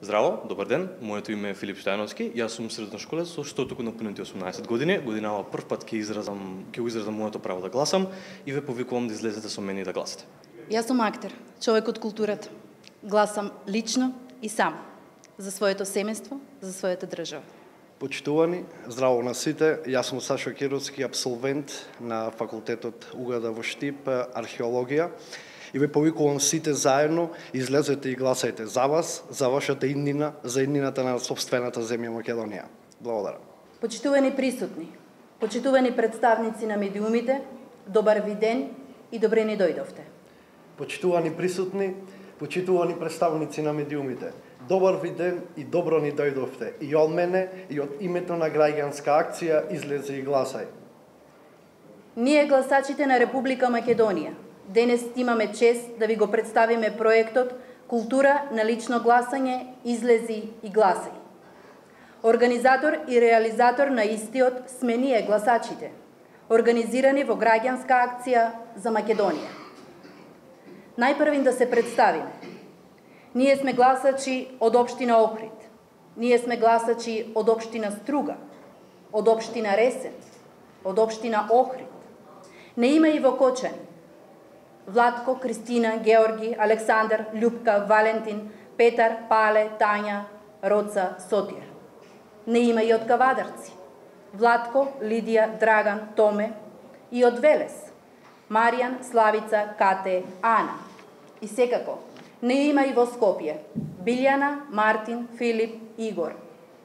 Здраво, добар ден. Моето име е Филип Штајновски. Јас сум средношколец што току напунети 18 години. Годинава прв пат ќе го изразам моето право да гласам и ве повикувам да излезете со мене и да гласате. Јас сум актер, човек од културата. Гласам лично и сам за своето семејство, за својата држава. Почитувани, здраво на сите. Јас сум Сашо Кировски, апсолвент на факултетот УГД во Штип, археологија. И ве повикувам сите заедно, излезете и гласајте за вас, за вашата иднина, за иднината на сопствената земја Македонија. Благодарам. Почитувани присутни, почитувани представници на медиумите, добар ви ден и добре ни дојдовте. Почитувани присутни, почитувани представници на медиумите, добар ви ден и добро ни дојдовте. И од мене, и од името на граѓанска акција излезе и гласај. Ние гласачите на Република Македонија денес имаме чест да ви го представиме проектот Култура на лично гласање, излези и гласај. Организатор и реализатор на истиот сме ние гласачите, организирани во граѓанска акција за Македонија. Најпрвин да се представиме. Ние сме гласачи од општина Охрид. Ние сме гласачи од општина Струга, од општина Ресен, од општина Охрид. Не има и во Кочани. Владко, Кристина, Георги, Александар, Љупка, Валентин, Петар, Пале, Тања, Роца, Сотир. Не има и од Кавадарци. Владко, Лидија, Драган, Томе и од Велес. Маријан, Славица, Кате, Ана. И секако, не има и во Скопје. Билјана, Мартин, Филип, Игор.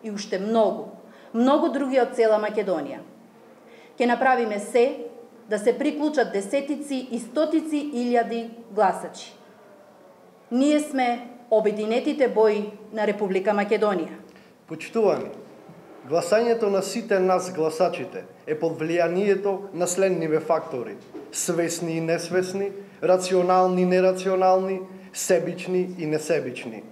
И уште многу, многу други од цела Македонија. Ке направиме се да се приклучат десетици и стотици илјади гласачи. Ние сме обединетите бои на Република Македонија. Почитувани, гласањето на сите нас гласачите е под влијанието на следниве фактори: свесни и несвесни, рационални и нерационални, себични и несебични.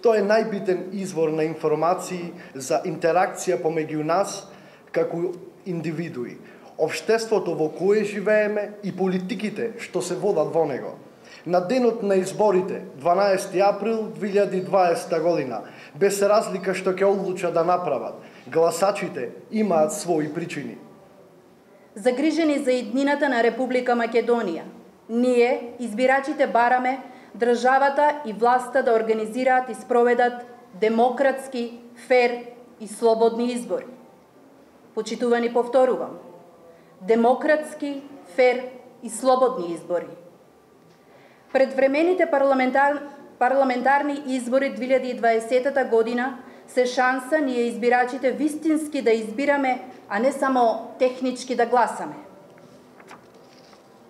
Тоа е најбитен извор на информации за интеракција помеѓу нас како индивидуи, општеството во кое живееме и политиките што се водат во него. На денот на изборите, 12 април 2020 година, без разлика што ќе одлучат да направат, гласачите имаат своји причини. Загрижени за иднината на Република Македонија, ние, избирачите, бараме државата и власта да организираат и спроведат демократски, фер и слободни избори. Почитувани, повторувам, демократски, фер и слободни избори. Предвремените парламентарни избори 2020 година се шанса ние избирачите вистински да избираме, а не само технички да гласаме.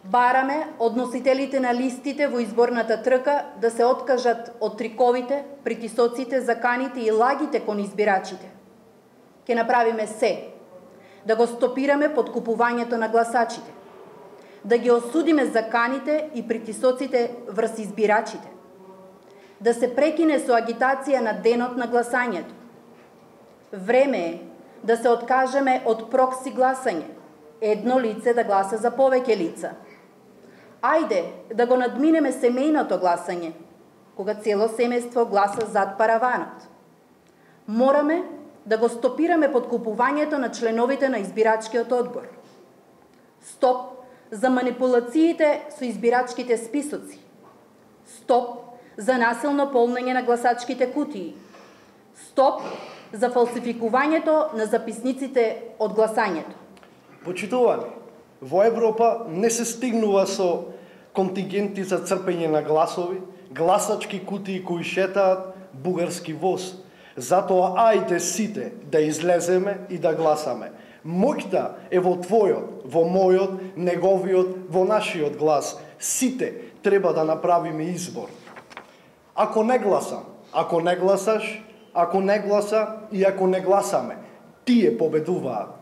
Бараме од носителите на листите во изборната трка да се откажат од триковите, притисоците, заканите и лагите кон избирачите. Ке направиме се да го стопираме подкупувањето на гласачите, да ги осудиме заканите и притисоците врз избирачите, да се прекине со агитација на денот на гласањето. Време е да се откажеме од прокси гласање, едно лице да гласа за повеќе лица. Ајде да го надминеме семејното гласање, кога цело семејство гласа зад параванот. Мораме да го стопираме подкупувањето на членовите на избирачкиот одбор. Стоп за манипулациите со избирачките списоци. Стоп за насилно полнење на гласачките кутии. Стоп за фалсификувањето на записниците од гласањето. Почитувани, во Европа не се стигнува со контингенти за црпење на гласови, гласачки кутии кои шетаат, бугарски воз. Затоа ајде сите да излеземе и да гласаме. Моќта е во твојот, во мојот, неговиот, во нашиот глас. Сите треба да направиме избор. Ако не гласам, ако не гласаш, ако не гласа и ако не гласаме, тие победуваат.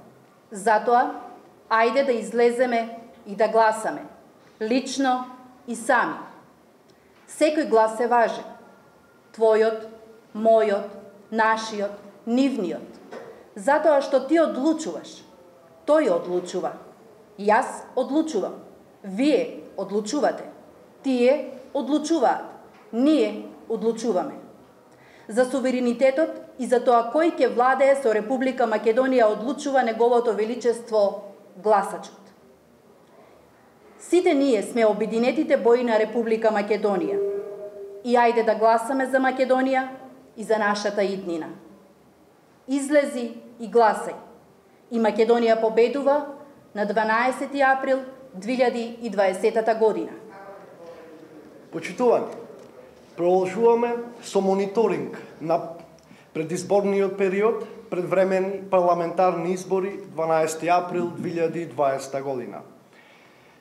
Затоа, ајде да излеземе и да гласаме, лично и сами. Секој глас е важен. Твојот, мојот, нашиот, нивниот. Затоа што ти одлучуваш, тој одлучува. Јас одлучувам. Вие одлучувате. Тие одлучуваат. Ние одлучуваме. за суверенитетот и за тоа кој ќе владее со Република Македонија одлучува неговото величество гласачот. Сите ние сме обединетите бои на Република Македонија и ајде да гласаме за Македонија и за нашата иднина. Излези и гласај. И Македонија победува на 12 април 2020 година. Почитувани, продолжуваме со мониторинг на предизборниот период, предвремени парламентарни избори 12 април 2020 година.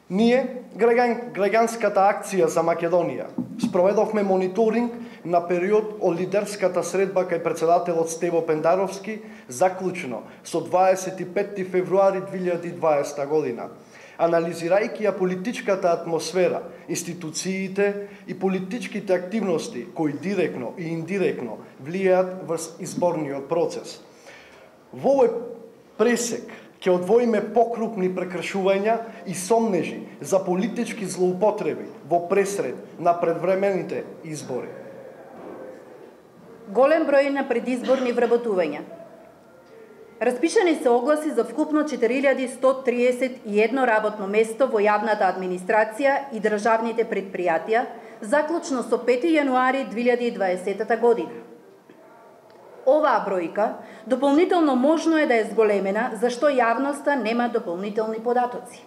Ние, граѓанската акција за Македонија, спроведовме мониторинг на период од лидерската средба кај председателот Стево Пендаровски, заклучно со 25 февруари 2020 година, анализирајќи ја политичката атмосфера, институциите и политичките активности кои директно и индиректно влијаат врз изборниот процес. Во овој пресек ќе одвоиме покрупни прекршувања и сомнежи за политички злоупотреби во пресред на предвремените избори. Голем број на предизборни вработувања. Распишани се огласи за вкупно 4131 работно место во јавната администрација и државните предпријатија, заклучно со 5 јануари 2020 година. Оваа бројка дополнително можно е да е зголемена, зашто јавноста нема дополнителни податоци.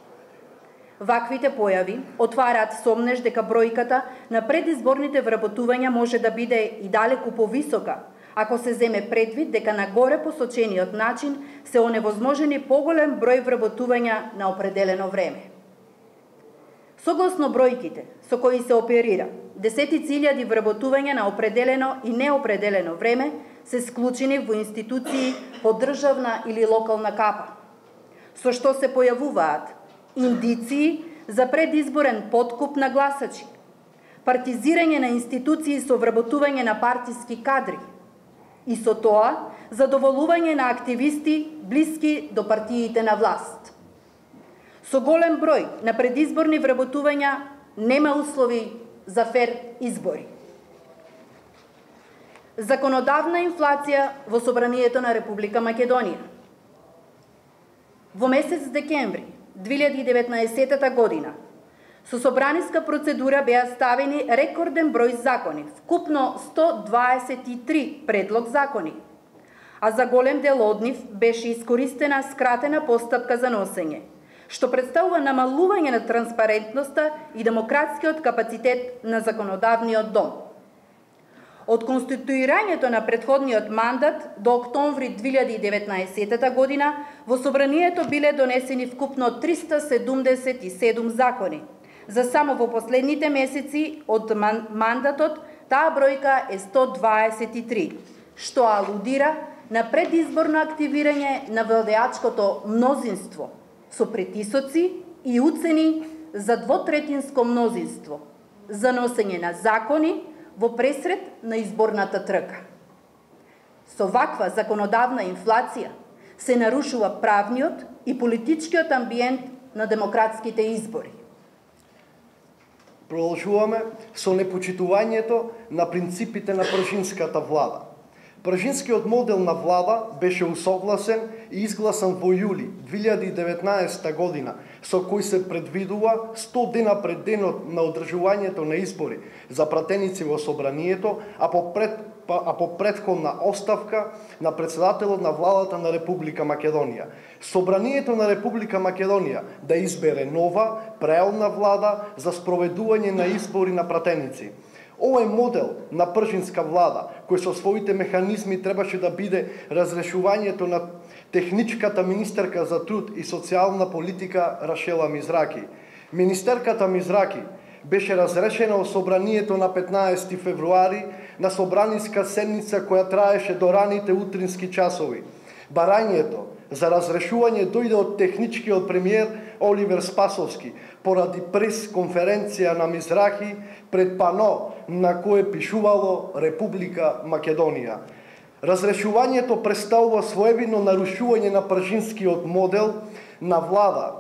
Ваквите појави отвараат сомнеж дека бројката на предизборните вработувања може да биде и далеку повисока, ако се земе предвид дека на горе посочениот начин се оневозможени поголем број вработувања на определено време. Согласно бројките со кои се оперира, десетици илјади вработувања на определено и неопределено време се склучени во институции по државна или локална капа, со што се појавуваат индиции за предизборен подкуп на гласачи, партизирање на институции со вработување на партиски кадри и со тоа задоволување на активисти блиски до партиите на власт. Со голем број на предизборни вработувања нема услови за фер избори. Законодавна инфлација во Собранието на Република Македонија. Во месец декември 2019 година со собраниска процедура беа ставени рекорден број закони, вкупно 123 предлог закони, а за голем дел од нив беше искористена скратена постапка за носење, што представува намалување на транспарентноста и демократскиот капацитет на законодавниот дом. Од конституирањето на претходниот мандат до октомври 2019 година во Собранието биле донесени вкупно 377 закони. За само во последните месеци од мандатот таа бројка е 123, што алудира на предизборно активирање на владеачкото мнозинство со притисоци и уцени за двотретинско мнозинство, за носење на закони во пресред на изборната трка. Со ваква законодавна инфлација се нарушува правниот и политичкиот амбиент на демократските избори. Продолжуваме со непочитувањето на принципите на пржинската влада. Пржинскиот модел на влада беше усогласен и изгласан во јули 2019 година, со кој се предвидува 100 дена пред денот на одржувањето на избори за пратеници во Собранието, а по претходна оставка на председателот на владата на Република Македонија. Собранието на Република Македонија да избере нова, преелна влада за спроведување на избори на пратеници. Овој модел на пржинска влада, кој со своите механизми требаше да биде разрешувањето на техничката министерка за труд и социјална политика Рашела Мизраки. Министерката Мизраки беше разрешена во Собранието на 15 февруари на собраниска седница која траеше до раните утрински часови. Барањето за разрешување дојде од техничкиот премиер Оливер Спасовски поради прес-конференција на Мизрахи пред пано на кое пишувало Република Македонија. Разрешувањето представува своевидно нарушување на пржинскиот модел на влада,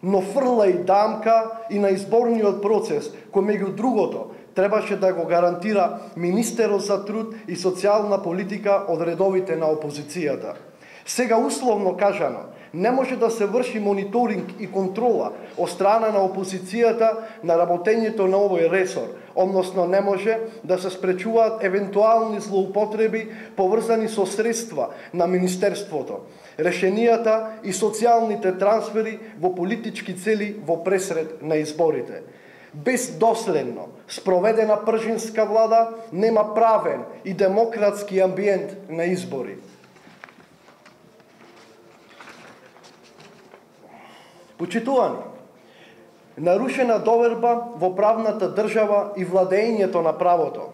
но фрла и дамка и на изборниот процес, кој меѓу другото требаше да го гарантира министерот за труд и социјална политика од редовите на опозицијата. Сега условно кажано, не може да се врши мониторинг и контрола од страна на опозицијата на работењето на овој ресор, односно не може да се спречуваат евентуални злоупотреби поврзани со средства на Министерството, решенијата и социјалните трансфери во политички цели во пресред на изборите. Без доследно спроведена пржинска влада нема правен и демократски амбиент на избори. Почитувани, нарушена доверба во правната држава и владењето на правото.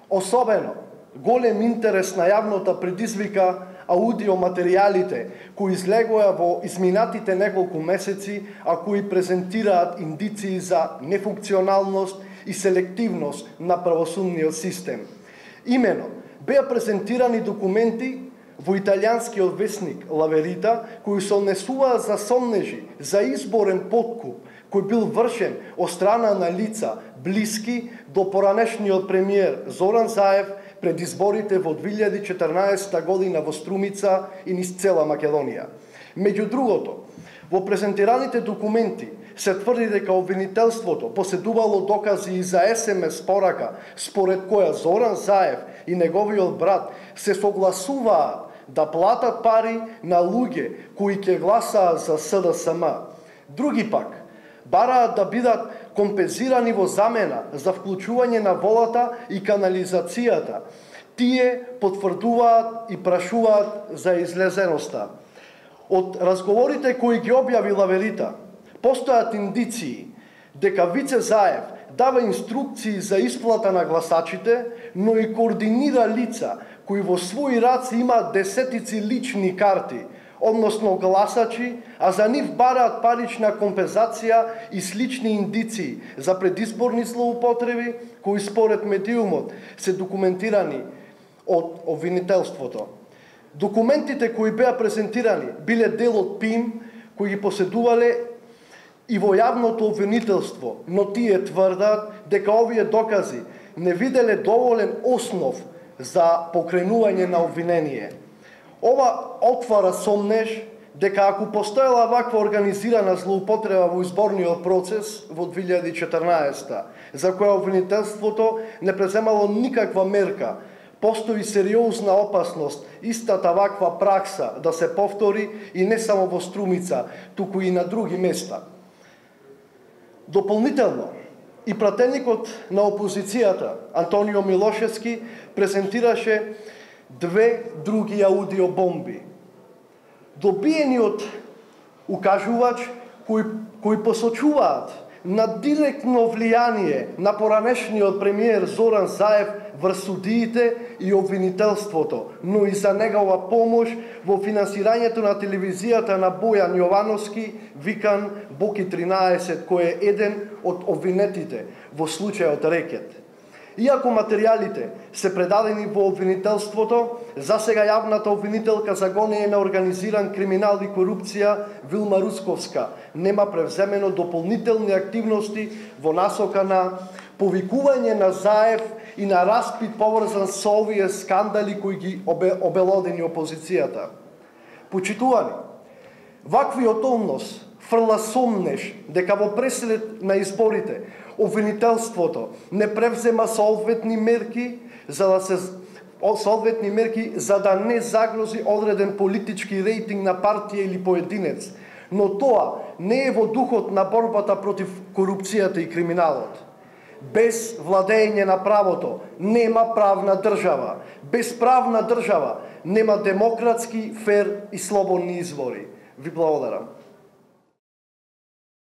Особено, голем интерес на јавнота предизвика аудиоматеријалите кои излегоа во изминатите неколку месеци, а кои презентираат индиции за нефункционалност и селективност на правосудниот систем. Имено, беа презентирани документи во италијанскиот весник La Verità, кои се однесуваа за сомнежи за изборен подкуп, кој бил вршен од страна на лица блиски до поранешниот премиер Зоран Заев пред изборите во 2014 година во Струмица и низ цела Македонија. Меѓу другото, во презентираните документи се тврди дека обвинителството поседувало докази и за СМС порака, според која Зоран Заев и неговиот брат се согласуваат да платат пари на луѓе кои ќе гласаат за СДСМ. Други пак бараат да бидат компензирани во замена за вклучување на волата и канализацијата. Тие потврдуваат и прашуваат за излезеноста. Од разговорите кои ги објави La Verità, постојат индиции дека Вице Заев дава инструкции за исплата на гласачите, но и координира лица кои во своји раци имаат десетици лични карти, односно гласачи, а за нив бараат парична компензација и слични индиции за предизборни злоупотреби кои според медиумот се документирани од обвинителството. Документите кои беа презентирани биле дел од ПИМ кои ги поседувале и во јавното обвинителство, но тие тврдат дека овие докази не виделе доволен основ за покренување на обвинение. Ова отвара сомнеж дека ако постоела ваква организирана злоупотреба во изборниот процес во 2014, за која обвинителството не преземало никаква мерка, постои сериозна опасност истата ваква пракса да се повтори и не само во Струмица, туку и на други места. Дополнително, и пратеникот на опозицијата Антонио Милошевски презентираше две други аудиобомби. Добиениот укажувач кои посочуваат на директно влијание на поранешниот премиер Зоран Заев врз судиите и обвинителството, но и за негова помош во финансирањето на телевизијата на Бојан Јовановски, викан Боки 13, кој е еден од обвинетите во случајот Рекет. Иако материјалите се предадени во обвинителството, засега јавната обвинителка за гонење на организиран криминал и корупција Вилма Русковска нема превземено дополнителни активности во насока на повикување на Заев и на распит поврзан со овие скандали кои ги обелодени опозицијата. Почитувани, ваквиот однос фрла сомнеш дека во пресред на изборите обвинителството не превзема соодветни мерки за да не загрози одреден политички рейтинг на партија или поединец, но тоа не е во духот на борбата против корупцијата и криминалот. Без владење на правото нема правна држава. Без правна држава нема демократски, фер и слободни избори. Ви благодарам.